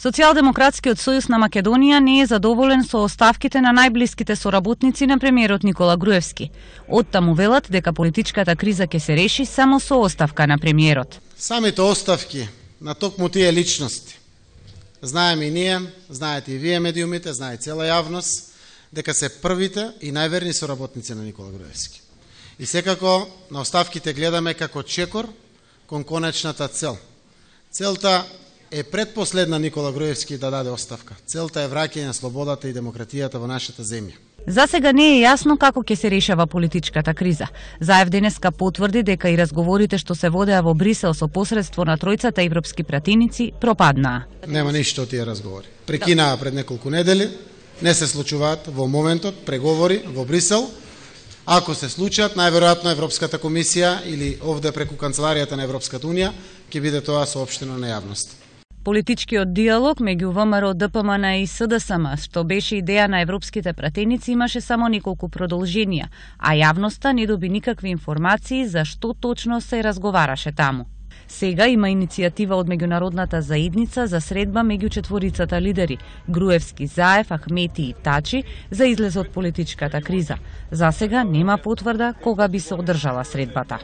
Социјалдемократскиот сојуз на Македонија не е задоволен со оставките на најблиските соработници на премиерот Никола Груевски. Оттаму велат дека политичката криза ќе се реши само со оставка на премиерот. Самите оставки на токму тие личности, знаеме и ние, знаете и вие медиумите, знае цела јавност, дека се првите и најверни соработници на Никола Груевски. И секако на оставките гледаме како чекор кон конечната цел. Целта е предпоследна Никола Груевски да даде оставка. Целта е враќање на слободата и демократијата во нашата земја. За сега не е јасно како ќе се решава политичката криза. Заев денеска потврди дека и разговорите што се водеа во Брисел со посредство на тројцата европски пратеници пропаднаа. Нема ништо од тие разговори. Прекинаа пред неколку недели, не се случуваат во моментот преговори во Брисел. Ако се случат, најверојатно Европската комисија или овде преку канцеларијата на Европската унија ќе биде тоа соопштено на јавност. Политичкиот диалог меѓу ВМРО, ДПМН и СДСМ, што беше идеја на европските пратеници, имаше само неколку продолженија, а јавноста не доби никакви информации за што точно се разговараше таму. Сега има иницијатива од меѓународната заедница за средба меѓу четворицата лидери Груевски, Заев, Ахмети и Тачи за излез од политичката криза. За сега нема потврда кога би се одржала средбата.